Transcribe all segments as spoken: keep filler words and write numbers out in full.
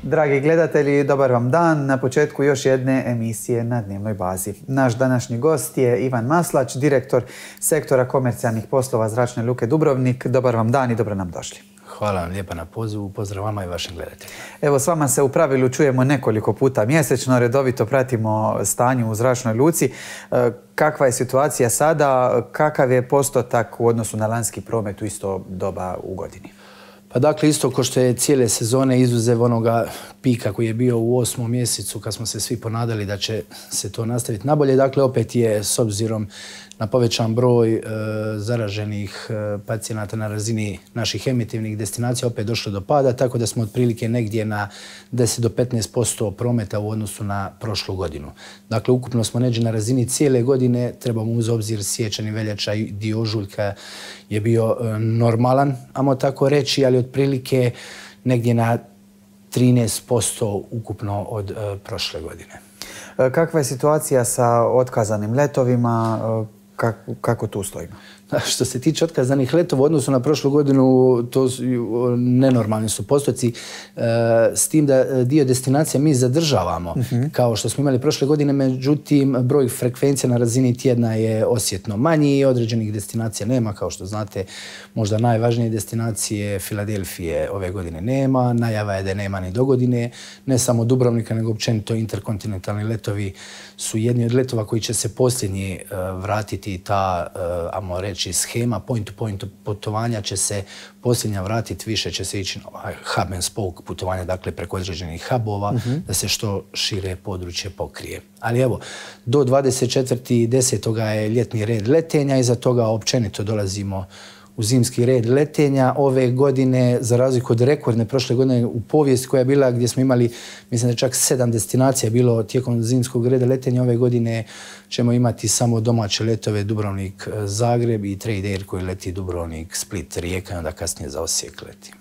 Dragi gledatelji, dobar vam dan. Na početku još jedne emisije na dnevnoj bazi. Naš današnji gost je Ivan Maslać, direktor sektora komercijalnih poslova Zračne luke Dubrovnik. Dobar vam dan i dobro nam došli. Hvala vam lijepa na pozivu. Pozdrav vama i vašim gledateljima. Evo, s vama se u pravilu čujemo nekoliko puta mjesečno, redovito pratimo stanje u Zračnoj luci. Kakva je situacija sada? Kakav je postotak u odnosu na lanjski promet u isto doba u godini? Pa dakle, isto ko što je cijele sezone, izuzev onoga pika koji je bio u osmom mjesecu kad smo se svi ponadali da će se to nastaviti nabolje. Dakle, opet je s obzirom na povećan broj e, zaraženih e, pacijenata na razini naših emitivnih destinacija opet došlo do pada, tako da smo otprilike negdje na deset do petnaest posto prometa u odnosu na prošlu godinu. Dakle, ukupno smo negdje na razini cijele godine, trebamo uz obzir siječanj i veljača i dio ožujka je bio e, normalan, ajmo tako reći, ali otprilike negdje na trinaest posto ukupno od e, prošle godine. Kakva je situacija sa otkazanim letovima? Kako, kako tu stojimo? Što se tiče otkazanih letova u odnosu na prošlu godinu, to su, nenormalni su postoci, e, s tim da dio destinacija mi zadržavamo, uh-huh. kao što smo imali prošle godine, međutim broj frekvencija na razini tjedna je osjetno manji, određenih destinacija nema, kao što znate, možda najvažnije destinacije Filadelfije ove godine nema, najava je da nema ni do godine, ne samo Dubrovnika, nego općenito interkontinentalni letovi su jedni od letova koji će se posljednji uh, vratiti, ta, uh, ajmo reći, schema point-to-point putovanja će se posljednja vratiti, više će se ići na hub and spoke putovanja, dakle preko određenih hubova, uh-huh. da se što šire područje pokrije. Ali evo, do dvadeset četvrtog desetog je ljetni red letenja i za toga općenito dolazimo u zimski red letenja. Ove godine, za razliku od rekordne prošle godine u povijesti koja je bila gdje smo imali, mislim da čak sedam destinacija bilo tijekom zimskog reda letenja, ove godine ćemo imati samo domaće letove Dubrovnik, Zagreb i Trade Air koji leti Dubrovnik, Split, Rijeka i onda kasnije za Osijek leti.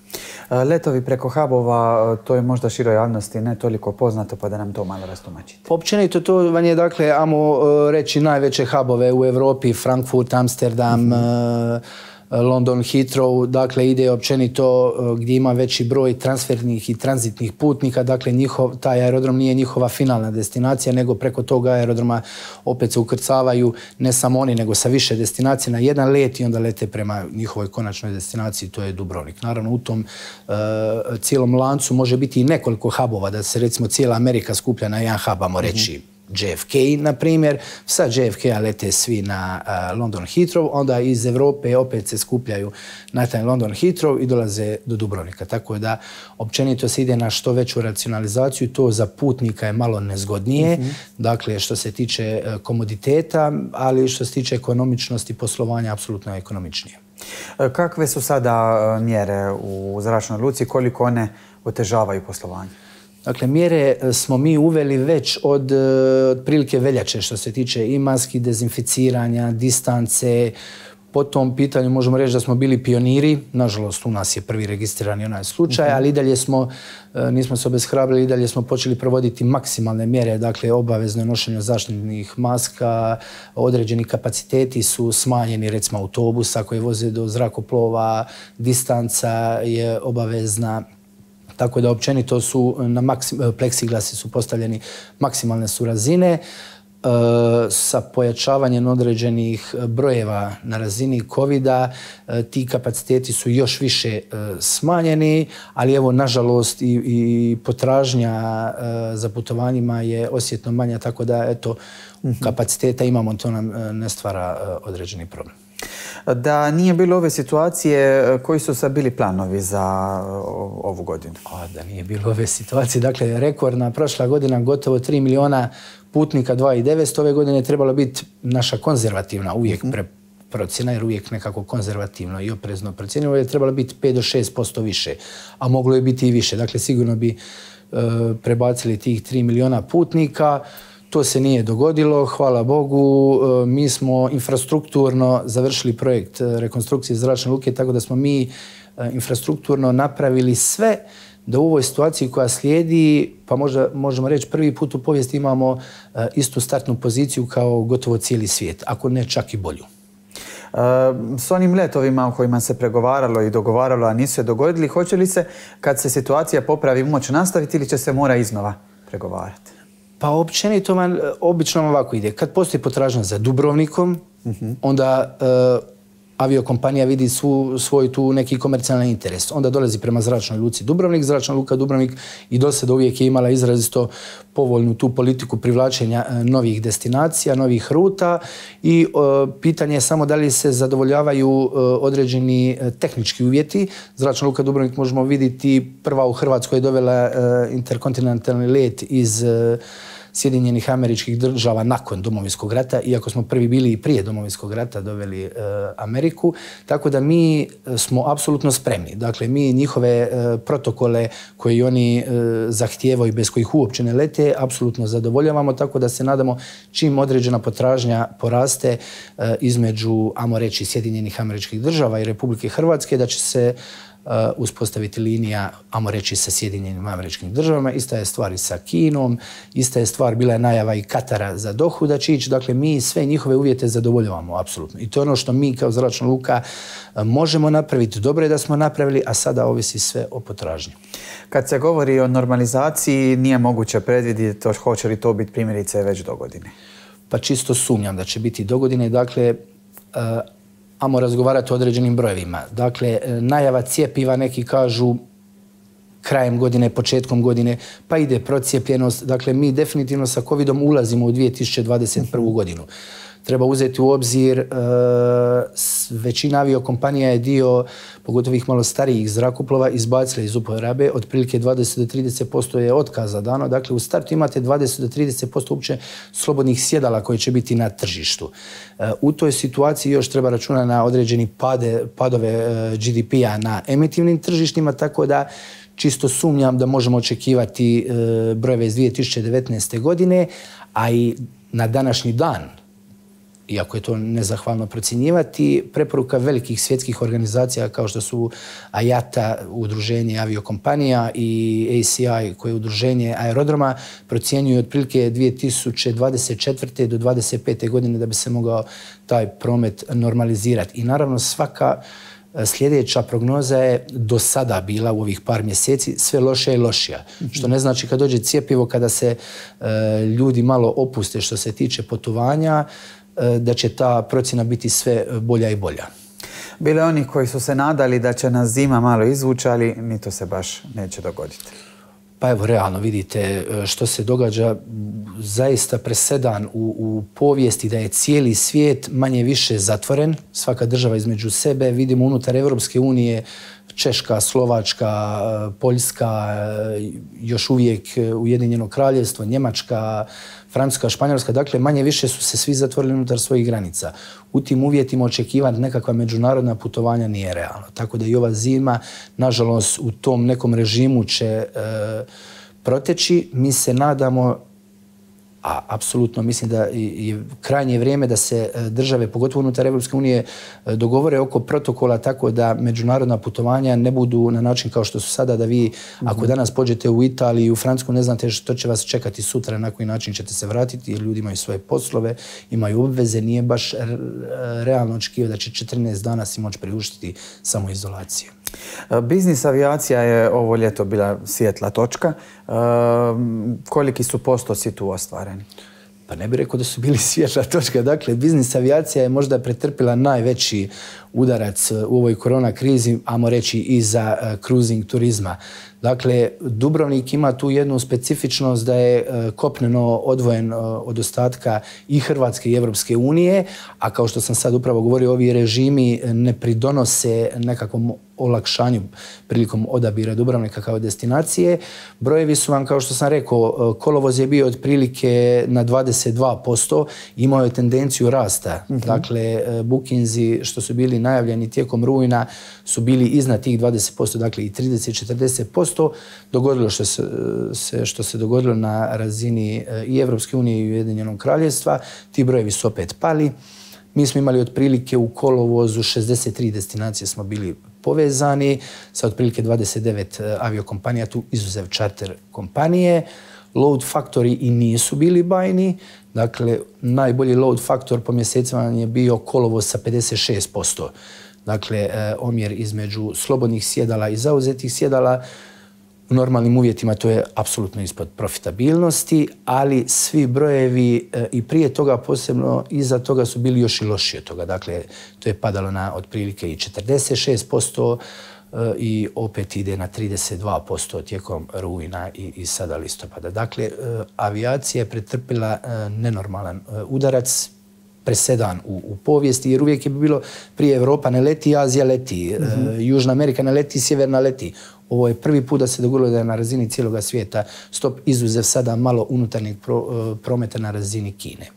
Letovi preko hubova, to je možda široj javnosti ne toliko poznato, pa da nam to malo rastumačite. Općenito to vam je, dakle, ajmo reći najveće hubove u Europi, Frankfurt, Amsterdam, mm-hmm. London, Heathrow, dakle ide općenito gdje ima veći broj transfernih i tranzitnih putnika, dakle njihov, taj aerodrom nije njihova finalna destinacija, nego preko toga aerodroma opet se ukrcavaju ne samo oni, nego sa više destinacija na jedan let i onda lete prema njihovoj konačnoj destinaciji, to je Dubrovnik. Naravno, u tom uh, cijelom lancu može biti i nekoliko hubova, da se recimo cijela Amerika skuplja na jedan hub, ajmo reći, mm-hmm. J F K, na primjer, sa J F K-a lete svi na uh, London Heathrow, onda iz Europe opet se skupljaju na taj London Heathrow i dolaze do Dubrovnika. Tako da općenito se ide na što veću racionalizaciju, to za putnika je malo nezgodnije, mm-hmm. dakle što se tiče uh, komoditeta, ali što se tiče ekonomičnosti poslovanja, apsolutno je ekonomičnije. Kakve su sada mjere u Zračnoj luci, koliko one otežavaju poslovanje? Dakle, mjere smo mi uveli već od otprilike veljače što se tiče i maski, dezinficiranja, distance. Po tom pitanju možemo reći da smo bili pioniri. Nažalost, u nas je prvi registrirani onaj slučaj, ali i dalje smo, nismo se obeshrabrili, i dalje smo počeli provoditi maksimalne mjere, dakle obavezno nošenje zaštitnih maska, određeni kapaciteti su smanjeni, recimo autobusa koji voze do zrakoplova, distanca je obavezna. Tako da općenito su na maksim, pleksiglasi su postavljeni, maksimalne su razine e, sa pojačavanjem određenih brojeva na razini kovida. E, ti kapaciteti su još više e, smanjeni, ali evo nažalost i, i potražnja e, za putovanjima je osjetno manja, tako da eto mm-hmm. kapaciteta imamo, to nam ne stvara e, određeni problem. Da nije bilo ove situacije, koji su sad bili planovi za ovu godinu? O, da nije bilo ove situacije, dakle rekordna prošla godina, gotovo tri milijuna putnika, dva i devetsto, ove godine je trebala biti naša konzervativna uvijek pre procjena, jer uvijek nekako konzervativno i oprezno procjenjivo, je trebala biti pet do šest posto više, a moglo je biti i više. Dakle, sigurno bi e, prebacili tih tri milijuna putnika. To se nije dogodilo, hvala Bogu. Mi smo infrastrukturno završili projekt rekonstrukcije zračne luke, tako da smo mi infrastrukturno napravili sve da u ovoj situaciji koja slijedi, pa možda možemo reći prvi put u povijesti imamo istu startnu poziciju kao gotovo cijeli svijet, ako ne čak i bolju. S onim letovima u kojima se pregovaralo i dogovaralo, a nisu se dogodili, hoće li se, kad se situacija popravi, moći nastaviti ili će se mora iznova pregovarati? Pa općenito vam, obično vam ovako ide. Kad postoji potražnja za Dubrovnikom, onda aviokompanija vidi svu, svoj tu neki komercijalni interes. Onda dolazi prema zračnoj luci Dubrovnik, zračna luka Dubrovnik i do sada uvijek je imala izrazito povoljnu tu politiku privlačenja novih destinacija, novih ruta i e, pitanje je samo da li se zadovoljavaju e, određeni tehnički uvjeti. Zračna luka Dubrovnik možemo vidjeti prva u Hrvatskoj je dovela e, interkontinentalni let iz e, Sjedinjenih Američkih Država nakon Domovinskog rata, iako smo prvi bili i prije Domovinskog rata doveli e, Ameriku, tako da mi smo apsolutno spremni. Dakle, mi njihove e, protokole koji oni e, zahtijevaju, bez kojih uopće ne lete, apsolutno zadovoljavamo, tako da se nadamo čim određena potražnja poraste e, između, ajmo reći, Sjedinjenih Američkih Država i Republike Hrvatske, da će se Uh, uspostaviti linija, ajmo reći, sa Sjedinjenim Američkim Državama. Ista je stvar i sa Kinom, ista je stvar, bila je najava i Katara za Dohu da će ići. Dakle, mi sve njihove uvjete zadovoljavamo, apsolutno. I to je ono što mi kao zračna luka uh, možemo napraviti. Dobro je da smo napravili, a sada ovisi sve o potražnji. Kad se govori o normalizaciji, nije moguće predvidjeti to, hoće li to biti primjerice već do godine? Pa čisto sumnjam da će biti do godine. Dakle, uh, ajmo razgovarati o određenim brojevima. Dakle, najava cjepiva, neki kažu krajem godine, početkom godine, pa ide procijepljenost. Dakle, mi definitivno sa covidom ulazimo u dvije tisuće dvadeset prvu. godinu. Treba uzeti u obzir, e, većina aviokompanija je dio, pogotovo ih malo starijih zrakoplova, izbacila iz uporabe, otprilike dvadeset do trideset posto je otkaza dano. Dakle, u startu imate dvadeset do trideset posto uopće slobodnih sjedala koje će biti na tržištu. E, u toj situaciji još treba računati na određeni pade, padove e, G D P-a na emitivnim tržištima, tako da čisto sumnjam da možemo očekivati e, brojeve iz dvije tisuće devetnaeste. godine, a i na današnji dan, iako je to nezahvalno procjenjivati, preporuka velikih svjetskih organizacija kao što su A I A T A, udruženje aviokompanija, i A C I, koje je udruženje aerodroma, procjenjuju otprilike dvije tisuće dvadeset četvrte. do dvadeset pete. godine da bi se mogao taj promet normalizirati. I naravno svaka sljedeća prognoza je do sada bila u ovih par mjeseci sve lošija i lošija. Mm-hmm. Što ne znači kad dođe cjepivo, kada se e, ljudi malo opuste što se tiče putovanja, da će ta procjena biti sve bolja i bolja. Bilo je onih koji su se nadali da će nas zima malo izvući, ali ni to se baš neće dogoditi. Pa evo, realno vidite što se događa, zaista presedan u, u povijesti da je cijeli svijet manje više zatvoren, svaka država između sebe. Vidimo unutar Evropske unije Češka, Slovačka, Poljska, još uvijek Ujedinjeno Kraljevstvo, Njemačka, Francuska, Španjolska, dakle manje više su se svi zatvorili unutar svojih granica. U tim uvjetima očekivati nekakva međunarodna putovanja nije realno. Tako da i ova zima, nažalost, u tom nekom režimu će e, proteći. Mi se nadamo, a apsolutno mislim da je krajnje vrijeme da se države, pogotovo unutar Evropske unije, dogovore oko protokola tako da međunarodna putovanja ne budu na način kao što su sada, da vi, mm-hmm. ako danas pođete u Italiju i u Francusku, ne znate što će vas čekati sutra, na koji način ćete se vratiti, jer ljudi imaju svoje poslove, imaju obveze, nije baš realno očekivati da će četrnaest dana si moći priuštiti samoizolacije. Biznis avijacija je ovo ljeto bila svijetla točka. E, koliki su postoci tu ostvareni? Pa ne bih rekao da su bili svjetla točka. Dakle, biznis avijacija je možda pretrpila najveći udarac u ovoj korona krizi, ajmo reći i za uh, cruising turizma. Dakle, Dubrovnik ima tu jednu specifičnost da je uh, kopneno odvojen uh, od ostatka i Hrvatske i Evropske unije, a kao što sam sad upravo govorio, ovi režimi ne pridonose nekakvom olakšanju prilikom odabira Dubrovnika kao destinacije. Brojevi su vam, kao što sam rekao, kolovoz je bio otprilike na dvadeset dva posto, imao je tendenciju rasta. Mm-hmm. Dakle, bookinzi što su bili najavljeni tijekom rujna su bili iznad tih dvadeset posto, dakle i trideset do četrdeset posto. Dogodilo što se, se, što se dogodilo na razini i Evropske unije i Ujedinjenog Kraljevstva. Ti brojevi su opet pali. Mi smo imali otprilike u kolovozu šezdeset tri destinacije smo bili povezani sa otprilike dvadeset devet aviokompanija, tu izuzev čarter kompanije. load faktori i nisu bili bajni. Dakle, najbolji load faktor po mjesecima je bio kolovoz sa pedeset šest posto. Dakle, omjer između slobodnih sjedala i zauzetih sjedala. U normalnim uvjetima to je apsolutno ispod profitabilnosti, ali svi brojevi i prije toga, posebno iza toga, su bili još i lošiji od toga. Dakle, to je padalo na otprilike i četrdeset šest posto i opet ide na trideset dva posto tijekom rujna i, i sada listopada. Dakle, avijacija je pretrpila nenormalan udarac, presedan u, u povijesti, jer uvijek je bilo prije Evropa ne leti, Azija leti, mm-hmm. Južna Amerika ne leti, Sjeverna leti. Ovo je prvi put da se dogodilo da je na razini cijeloga svijeta stop, izuzev sada malo unutarnjeg pro, prometa na razini Kine.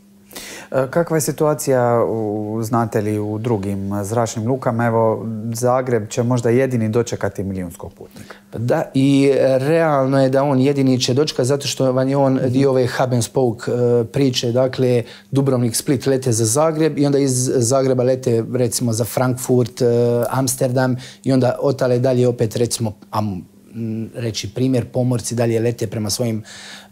Kakva je situacija, u, znate li, u drugim zračnim lukama? Evo, Zagreb će možda jedini dočekati milijunskog putnika. Da, i realno je da on jedini će dočekati zato što vam je on dio ove hub and spoke priče. Dakle, Dubrovnik, Split lete za Zagreb i onda iz Zagreba lete recimo za Frankfurt, Amsterdam i onda otale dalje opet recimo reći primjer, pomorci dalje lete prema svojim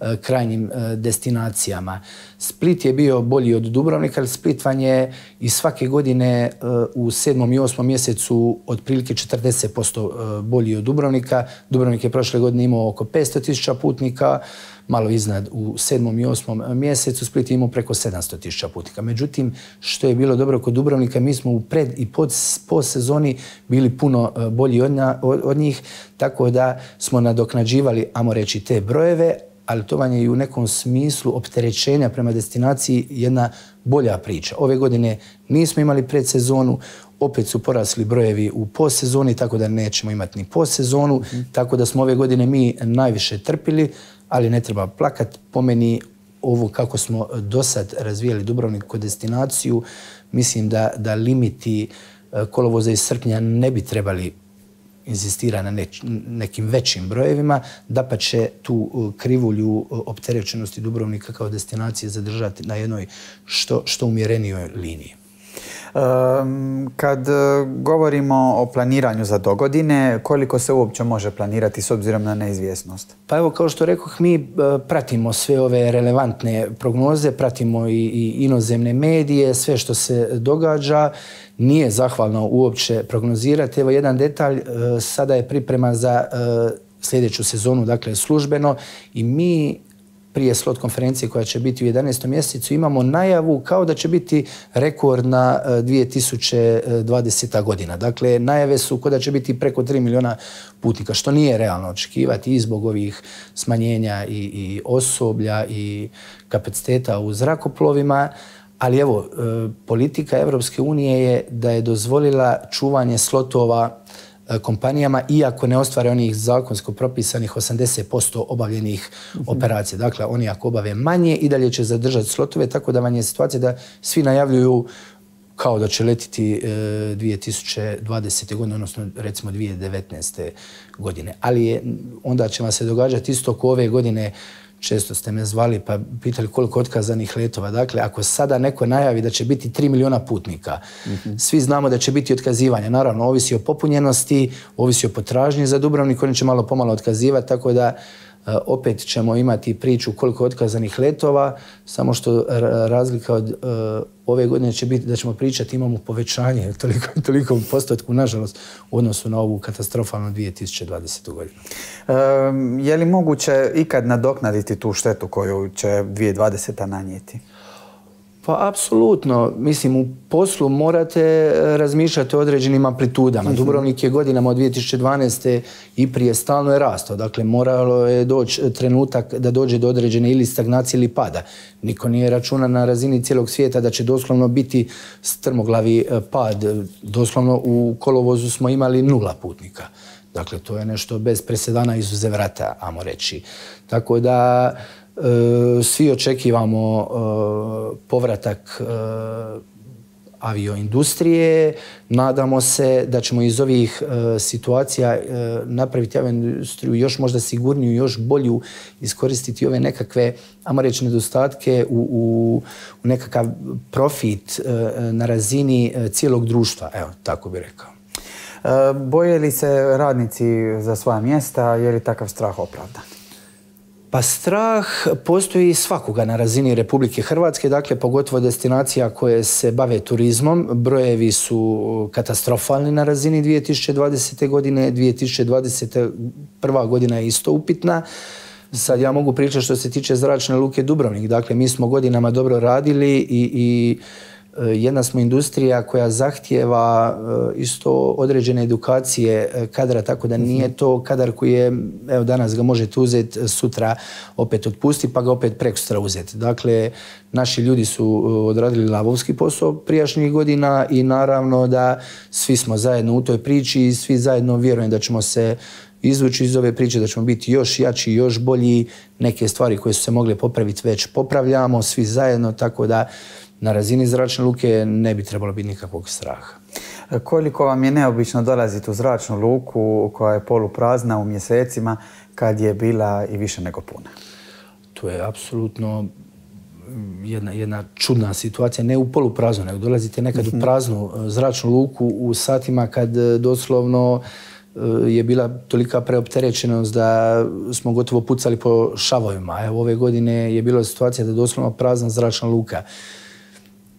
uh, krajnjim uh, destinacijama. Split je bio bolji od Dubrovnika, ali Split vam je i svake godine uh, u sedmom i osmom mjesecu otprilike četrdeset posto uh, bolji od Dubrovnika. Dubrovnik je prošle godine imao oko petsto tisuća putnika, malo iznad u sedmom i osmom mjesecu, Split je imao preko sedamsto tisuća putnika. Međutim, što je bilo dobro kod Dubrovnika, mi smo u pred i pod, po sezoni bili puno bolji od, na, od njih, tako da smo nadoknađivali, ajmo reći, te brojeve, ali to vam je i u nekom smislu opterećenja prema destinaciji jedna bolja priča. Ove godine nismo imali predsezonu, opet su porasli brojevi u posezoni, tako da nećemo imati ni posezonu, mm. tako da smo ove godine mi najviše trpili, ali ne treba plakat. Po meni, ovo kako smo do sad razvijali Dubrovnik kod destinaciju, mislim da, da limiti kolovoza iz srpnja ne bi trebali inzistira na neč, nekim većim brojevima, da pa će tu krivulju opterećenosti Dubrovnika kao destinacije zadržati na jednoj što, što umjerenijoj liniji. Kad govorimo o planiranju za dogodine, koliko se uopće može planirati s obzirom na neizvjesnost? Pa evo, kao što rekoh, mi pratimo sve ove relevantne prognoze, pratimo i, i inozemne medije, sve što se događa. Nije zahvalno uopće prognozirati. Evo jedan detalj, sada je priprema za sljedeću sezonu, dakle službeno, i mi prije slot konferencije koja će biti u jedanaestom mjesecu imamo najavu kao da će biti rekordna dvije tisuće dvadeseta godina. Dakle, najave su kao da će biti preko tri milijuna putnika, što nije realno očekivati i zbog ovih smanjenja i, i osoblja i kapaciteta u zrakoplovima. Ali evo, politika Evropske unije je da je dozvolila čuvanje slotova kompanijama, iako ne ostvare onih zakonsko propisanih osamdeset posto obavljenih mm-hmm. operacija. Dakle, oni ako obave manje, i dalje će zadržati slotove, tako da vam je situacija da svi najavljuju kao da će letiti e, dvije tisuće dvadesete godine, odnosno recimo dvije tisuće devetnaeste godine. Ali je, onda će vam se događati isto ko ove godine. Često ste me zvali pa pitali koliko otkazanih letova. Dakle, ako sada neko najavi da će biti tri milijuna putnika, mm-hmm. svi znamo da će biti otkazivanja. Naravno, ovisi o popunjenosti, ovisi o potražnji za Dubrovnik, oni će malo pomalo otkazivati, tako da uh, opet ćemo imati priču koliko otkazanih letova, samo što razlika od uh, ove godine će biti da ćemo pričati, imamo povećanje toliko, toliko postotku, nažalost, u odnosu na ovu katastrofalnu dvije tisuće dvadesetu godinu. E, je li moguće ikad nadoknaditi tu štetu koju će dvije tisuće dvadeseta nanijeti? Pa, apsolutno. Mislim, u poslu morate razmišljati o određenim amplitudama. Mm-hmm. Dubrovnik je godinama od dvije tisuće dvanaeste i prije stalno je rastao. Dakle, moralo je doći trenutak da dođe do određene ili stagnacije ili pada. Niko nije računa na razini cijelog svijeta da će doslovno biti strmoglavi pad. Doslovno u kolovozu smo imali nula putnika. Dakle, to je nešto bez presedana izuzev rata, ajmo reći. Tako da svi očekivamo povratak avioindustrije. Nadamo se da ćemo iz ovih situacija napraviti avioindustriju još možda sigurniju, još bolju, iskoristiti ove nekakve, ajmo reći, nedostatke u, u, u nekakav profit na razini cijelog društva. Evo, tako bih rekao. Boje li se radnici za svoja mjesta? Je li takav strah opravdan? Pa strah postoji svakoga na razini Republike Hrvatske, dakle pogotovo destinacija koje se bave turizmom. Brojevi su katastrofalni na razini dvije tisuće dvadesete. godine, dvije tisuće dvadeseta prva godina je isto upitna. Sad ja mogu pričati što se tiče Zračne luke Dubrovnik. Dakle, mi smo godinama dobro radili i, i jedna smo industrija koja zahtijeva isto određene edukacije kadra, tako da nije to kadar koji je, evo danas ga možete uzeti, sutra opet otpusti, pa ga opet prekosutra uzeti. Dakle, naši ljudi su odradili lavovski posao prijašnjih godina i naravno da svi smo zajedno u toj priči i svi zajedno vjerujem da ćemo se izvući iz ove priče, da ćemo biti još jači, još bolji. Neke stvari koje su se mogle popraviti već popravljamo svi zajedno, tako da na razini Zračne luke ne bi trebalo biti nikakvog straha. Koliko vam je neobično dolaziti u Zračnu luku koja je poluprazna u mjesecima kad je bila i više nego puna? To je apsolutno jedna, jedna čudna situacija, ne u polupraznu, nego dolazite nekad u praznu Zračnu luku u satima kad doslovno je bila tolika preopterećenost da smo gotovo pucali po šavovima. Evo, ove godine je bila situacija da je doslovno prazna Zračna luka.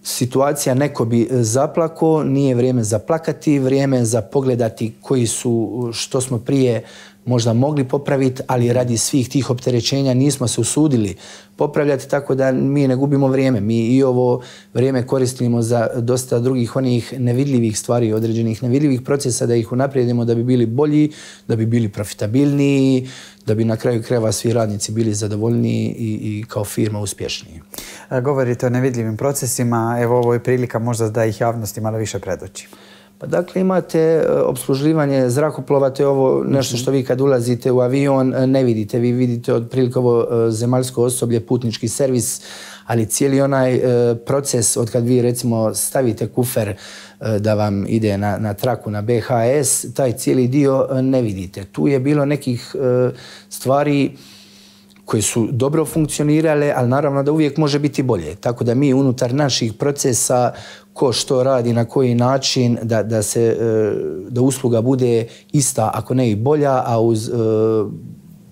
Situacija, neko bi zaplako, nije vrijeme za plakati, vrijeme za pogledati koji su, što smo prije možda mogli popraviti, ali radi svih tih opterećenja nismo se usudili popravljati, tako da mi ne gubimo vrijeme. Mi i ovo vrijeme koristimo za dosta drugih onih nevidljivih stvari, određenih nevidljivih procesa, da ih unaprijedimo da bi bili bolji, da bi bili profitabilniji, da bi na kraju krajeva svi radnici bili zadovoljniji i, i kao firma uspješniji. Govorite o nevidljivim procesima, evo ovo je prilika možda da ih javnosti malo više predoči. Pa dakle, imate opsluživanje zrakoplova, to je ovo nešto što vi kad ulazite u avion ne vidite. Vi vidite otprilike ovo zemaljsko osoblje, putnički servis, ali cijeli onaj proces od kad vi recimo stavite kufer da vam ide na, na traku, na B H S, taj cijeli dio ne vidite. Tu je bilo nekih stvari koje su dobro funkcionirale, ali naravno da uvijek može biti bolje. Tako da mi unutar naših procesa, ko što radi, na koji način, da, da, se, da usluga bude ista, ako ne i bolja, a uz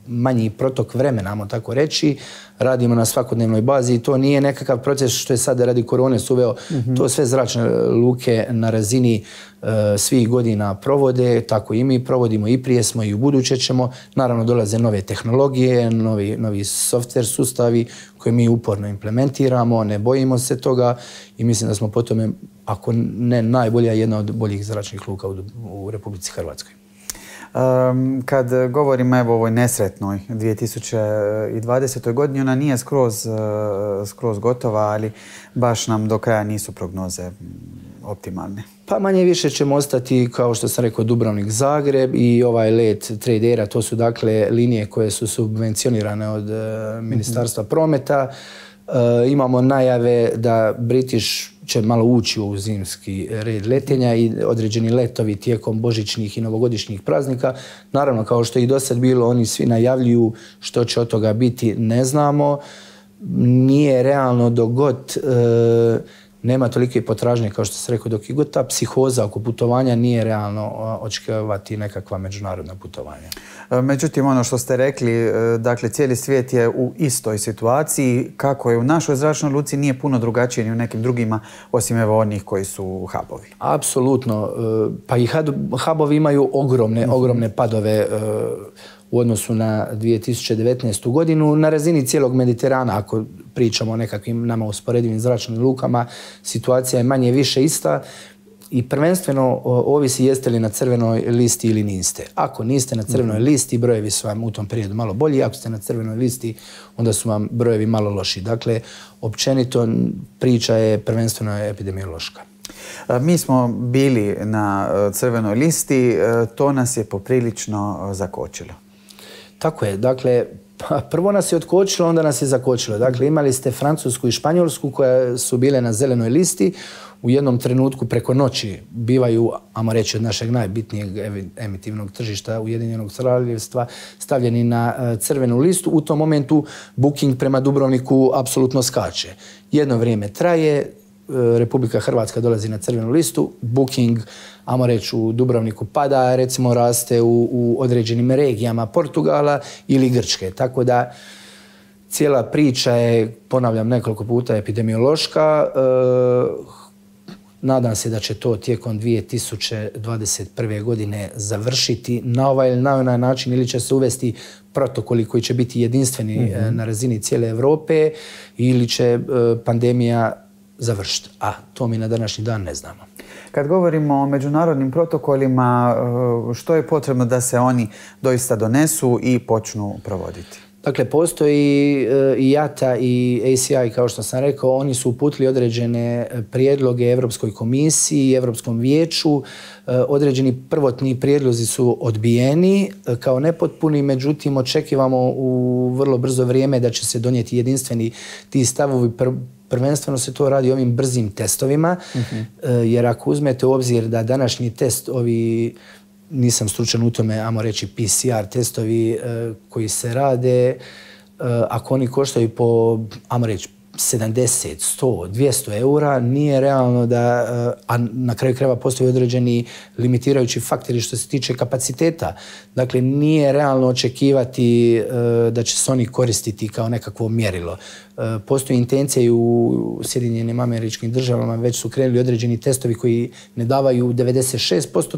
manji protok vremena, ajmo tako reći, radimo na svakodnevnoj bazi i to nije nekakav proces što je sada radi korone suveo. Mm-hmm. To sve Zračne luke na razini uh, svih godina provode, tako i mi provodimo i prije smo i u buduće ćemo. Naravno dolaze nove tehnologije, novi, novi software sustavi koje mi uporno implementiramo, ne bojimo se toga i mislim da smo po tome, ako ne najbolja, jedna od boljih zračnih luka u, u Republici Hrvatskoj. Um, kad govorimo evo o ovoj nesretnoj dvije tisuće dvadesetoj. godini, ona nije skroz, uh, skroz gotova, ali baš nam do kraja nisu prognoze optimalne. Pa manje više ćemo ostati, kao što sam rekao, Dubrovnik, Zagreb i ovaj let Tradera. To su dakle linije koje su subvencionirane od uh, Ministarstva mm-hmm. prometa. Uh, imamo najave da British će malo ući u zimski red letenja i određeni letovi tijekom božićnih i novogodišnjih praznika. Naravno, kao što je i do sad bilo, oni svi najavljuju što će od toga biti, ne znamo. Nije realno dok god e, nema tolike potražnje, kao što se rekao, dok i god ta psihoza oko putovanja nije realno očekivati nekakva međunarodna putovanja. Međutim, ono što ste rekli, dakle, cijeli svijet je u istoj situaciji. Kako je u našoj zračnoj luci nije puno drugačije ni u nekim drugima, osim evo onih koji su hubovi. Apsolutno. Pa i hubovi imaju ogromne, mm-hmm. ogromne padove u odnosu na dvije tisuće devetnaestu. godinu. Na razini cijelog Mediterana, ako pričamo o nekakvim nama usporedivim zračnim lukama, situacija je manje više ista. I prvenstveno ovisi jeste li na crvenoj listi ili niste. Ako niste na crvenoj listi, brojevi su vam u tom periodu malo bolji. Ako ste na crvenoj listi, onda su vam brojevi malo loši. Dakle, općenito priča je prvenstveno epidemiološka. Mi smo bili na crvenoj listi, to nas je poprilično zakočilo. Tako je. Dakle, prvo nas je otkočilo, onda nas je zakočilo. Dakle, imali ste Francusku i Španjolsku koje su bile na zelenoj listi. U jednom trenutku preko noći bivaju, ajmo reći, od našeg najbitnijeg emitivnog tržišta Ujedinjenog Kraljevstva stavljeni na crvenu listu. U tom momentu booking prema Dubrovniku apsolutno skače. Jedno vrijeme traje, Republika Hrvatska dolazi na crvenu listu, booking, ajmo reći, u Dubrovniku pada, recimo raste u, u određenim regijama Portugala ili Grčke. Tako da cijela priča je, ponavljam nekoliko puta, epidemiološka. Nadam se da će to tijekom dvije tisuće dvadeset prve. godine završiti na ovaj ili na onaj način, ili će se uvesti protokoli koji će biti jedinstveni mm-hmm. na razini cijele Europe, ili će pandemija završiti. A to mi na današnji dan ne znamo. Kad govorimo o međunarodnim protokolima, što je potrebno da se oni doista donesu i počnu provoditi? Dakle, postoji i I A T A i A C I, kao što sam rekao, oni su uputili određene prijedloge Europskoj komisiji i Europskom vijeću. Određeni prvotni prijedlozi su odbijeni kao nepotpuni, međutim, očekivamo u vrlo brzo vrijeme da će se donijeti jedinstveni ti stavovi. Prvenstveno se to radi ovim brzim testovima, uh-huh. jer ako uzmete u obzir da današnji test, ovi, nisam stručan u tome, ajmo reći P C R testovi koji se rade, ako oni koštaju po, ajmo reći, sedamdeset, sto, dvjesto eura, nije realno da, a na kraju krajeva postoji određeni limitirajući faktori što se tiče kapaciteta. Dakle, nije realno očekivati da će se oni koristiti kao nekakvo mjerilo. Postoji intencija i u Sjedinjenim Američkim Državama, već su krenuli određeni testovi koji ne davaju devedeset šest posto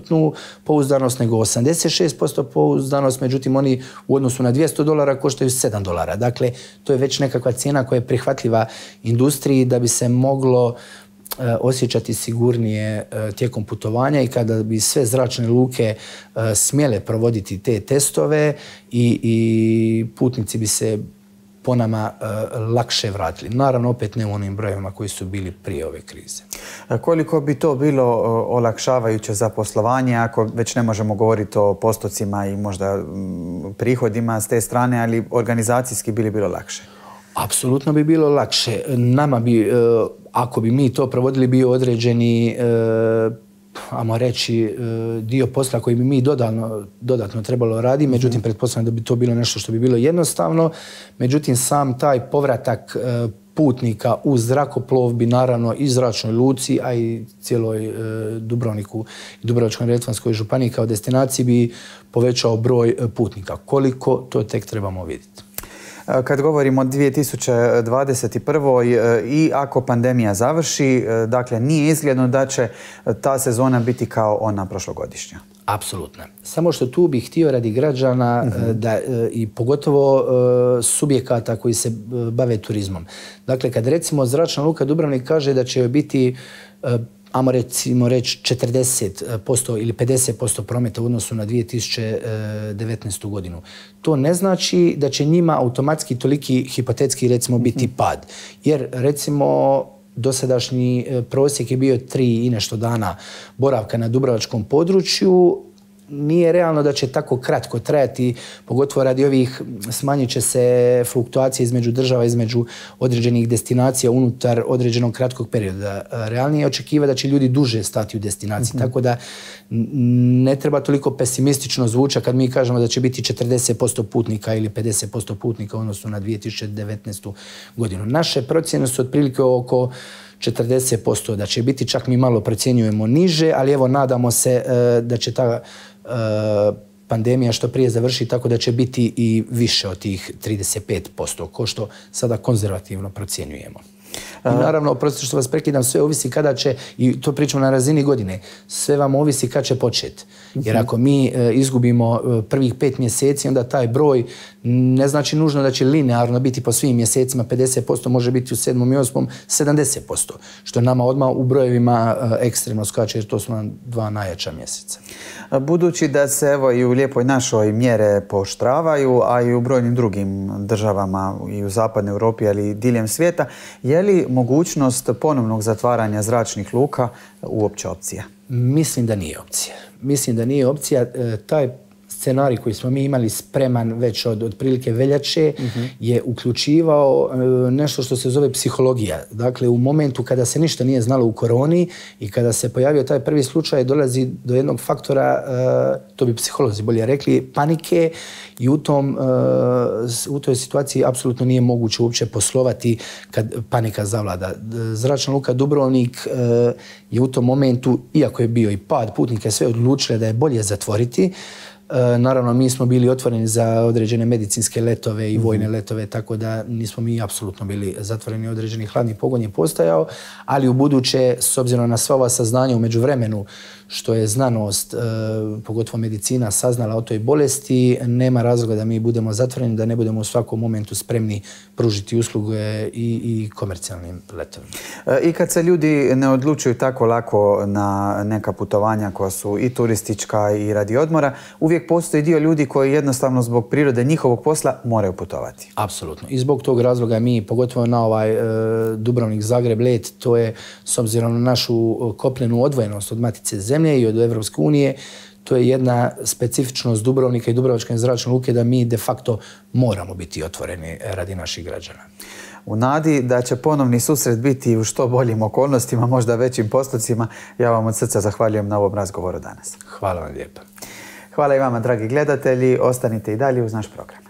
pouzdanost, nego osamdeset šest posto pouzdanost, međutim oni u odnosu na dvjesto dolara koštaju sedam dolara. Dakle, to je već nekakva cijena koja je prihvatljiva industriji da bi se moglo e, osjećati sigurnije e, tijekom putovanja i kada bi sve zračne luke e, smjele provoditi te testove i, i putnici bi se po nama e, lakše vratili. Naravno, opet ne u onim brojevima koji su bili prije ove krize. A koliko bi to bilo olakšavajuće za poslovanje, ako već ne možemo govoriti o postocima i možda m, prihodima s te strane, ali organizacijski bili bilo lakše? Apsolutno bi bilo lakše. Nama bi, ako bi mi to provodili, bio određeni, ajmo reći, dio posla koji bi mi dodatno, dodatno trebalo raditi. Međutim, pretpostavljam da bi to bilo nešto što bi bilo jednostavno. Međutim, sam taj povratak putnika u zrakoplov bi naravno i zračnoj luci, a i cijeloj Dubrovniku i Dubrovačko-neretvanskoj županiji kao destinaciji bi povećao broj putnika. Koliko, to tek trebamo vidjeti. Kad govorimo o dvije tisuće dvadeset prvoj. i ako pandemija završi, dakle nije izgledno da će ta sezona biti kao ona prošlogodišnja. Apsolutno. Samo što tu bih htio radi građana mm-hmm. da, i pogotovo subjekata koji se bave turizmom. Dakle, kad recimo Zračna luka Dubrovnik kaže da će biti ajmo recimo reći četrdeset posto ili pedeset posto prometa u odnosu na dvije tisuće devetnaestu. godinu. To ne znači da će njima automatski toliki hipotetski recimo biti pad. Jer recimo dosadašnji prosjek je bio tri i nešto dana boravka na dubrovačkom području. Nije realno da će tako kratko trajati, pogotovo radi ovih, smanjit će se fluktuacije između država, između određenih destinacija unutar određenog kratkog perioda. Realnije je očekivati da će ljudi duže stati u destinaciji, mm-hmm. tako da ne treba toliko pesimistično zvučati kad mi kažemo da će biti četrdeset posto putnika ili pedeset posto putnika u odnosu na dvije tisuće devetnaestu. godinu. Naše procjene su otprilike oko četrdeset posto, da će biti, čak mi malo procjenjujemo niže, ali evo nadamo se da će ta pandemija što prije završi, tako da će biti i više od tih trideset pet posto, ko što sada konzervativno procjenjujemo. I naravno, oprostite što vas prekidam, sve ovisi kada će, i to pričamo na razini godine, sve vam ovisi kad će početi. Jer ako mi e, izgubimo e, prvih pet mjeseci, onda taj broj ne znači nužno da će linearno biti po svim mjesecima pedeset posto, može biti u sedmom i osmom sedamdeset posto, što nama odmah u brojevima e, ekstremno skače, jer to su nam dva najjača mjeseca. Budući da se evo i u Lijepoj našoj mjere pooštravaju, a i u brojnim drugim državama i u zapadnoj Europi, ali i diljem svijeta, je li mogućnost ponovnog zatvaranja zračnih luka uopće opcija? Mislim da nije opcija. Mislim da nije opcija. E, taj scenarij koji smo mi imali spreman već od otprilike veljače mm-hmm. je uključivao e, nešto što se zove psihologija. Dakle, u momentu kada se ništa nije znalo u koroni i kada se pojavio taj prvi slučaj, dolazi do jednog faktora, e, to bi psiholozi bolje rekli, panike, i u, tom, e, u toj situaciji apsolutno nije moguće uopće poslovati kad panika zavlada. Zračna luka Dubrovnik e, je u tom momentu, iako je bio i pad putnika, sve odlučile da je bolje zatvoriti. Naravno, mi smo bili otvoreni za određene medicinske letove i vojne letove, tako da nismo mi apsolutno bili zatvoreni. Određeni hladni pogon je postojao, ali u buduće, s obzirom na sva ova saznanja u međuvremenu, što je znanost, pogotovo medicina, saznala o toj bolesti, nema razloga da mi budemo zatvoreni, da ne budemo u svakom momentu spremni pružiti usluge i, i komercijalnim letovima. I kad se ljudi ne odlučuju tako lako na neka putovanja koja su i turistička i radi odmora, uvijek postoji dio ljudi koji jednostavno zbog prirode njihovog posla moraju putovati. Apsolutno. I zbog tog razloga mi, pogotovo na ovaj e, Dubrovnik-Zagreb let, to je s obzirom na našu kopnenu odvojenost od Matice zemlje i od Evropske unije, to je jedna specifičnost Dubrovnika i Dubrovačke zračne luke da mi de facto moramo biti otvoreni radi naših građana. U nadi da će ponovni susret biti u što boljim okolnostima, možda većim postocima, ja vam od srca zahvaljujem na ovom razgovoru danas. Hvala vam lijepa. Hvala i vama, dragi gledatelji. Ostanite i dalje uz naš program.